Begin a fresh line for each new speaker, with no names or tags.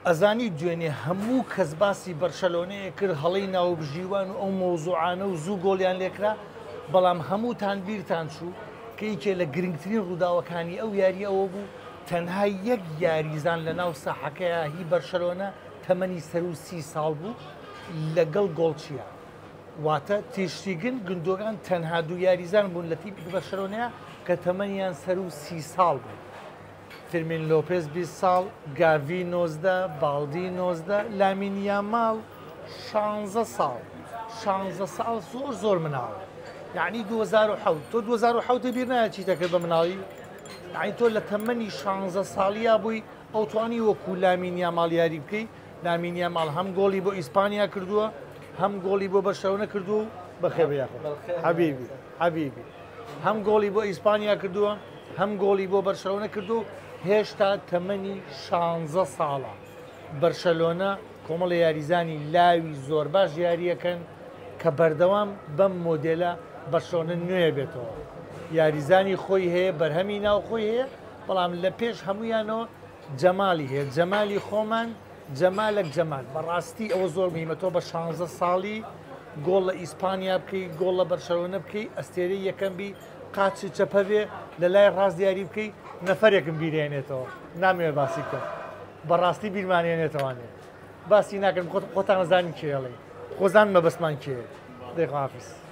ئەزانی دوێنێ هەموو کەس باسی بەرشەلۆنەیە کرد، هەڵەی ناوبژیوان و ئەو مەوزوعانە و زوو گۆڵیان لێکرا، بەڵام هەمووتان بیرتان چوو کە یەکێ لە گرنگترین ڕووداوەکانی ئەو یاریە ئەوە بوو تەنها یەک یاریزان لە ناو ساحەکەیا هی بەرشەلۆنە تەمەنی سەروو 30 ساڵ بوو لەگەڵ گۆڵچیە، واتە تیرشتیگن گندۆگان تەنها دوو یاریزان بوون لە تیپی بەرشەلۆنەیا کە تەمەنیان سەروو 30 ساڵ بوو. فیرمین لۆپێز 20 ساڵ، گاڤی 19، باڵدی 19، لامین یاماڵ 16 ساڵ. 16 ساڵ زۆر زۆر مناڵە. یعنی 2007 تۆ 2007 بیر نایە چیتە کرد بە مناڵی؟ یعنی تۆ لە تەمەنی 16 ساڵیا بووی ئەو توانی وەکو لامین یاماڵ یاری بکەی. لامین یاماڵ هەم گۆڵی بۆ ئیسپانیا کردووە، هەم گۆڵی بۆ بەرشەلۆنە کردووە و بەخێر بێی یاخۆ. حەبیبی حەبیبی. هەم گۆڵی بۆ ئیسپانیا کردووە، هەم گۆڵی بۆ بەرشەلۆنە کردووە و هێشتا تەمەنی 16 ساڵە. بەرشەلۆنە کۆمەڵی یاریزانی لاوی زۆر باش یاریەکەن کە بەردەوام بەم مۆدێلە بەرشەلۆنە نوێ بێتەوە. یاریزانی خۆی هەیە، بەرهەمی ناوخۆی هەیە، بەڵام لە پێش هەمویانەوە جەمالی هەیە، جەمالی خۆمان جەمالەک جەمال. بەڕاستی ئەوە زۆر مهمە تۆ بە 16 ساڵی گۆڵ لە ئیسپانیا بکەی، گۆڵ لە بەرشەلۆنە بکەی، ئەستێرەی یەکەم بی، قاچی چەپە بێ، لە لای ڕاست دیاری بکەی، نەفەرێکم بیرێنێتەوە. نامەوێ باسی بکەم. بەڕاستی بیرمانێنێتەوانێ. باسی ناکەم، خۆتان ئەزانین کێڵێ. خۆزان مەبەستمان کێیە. دەی خواحافیز.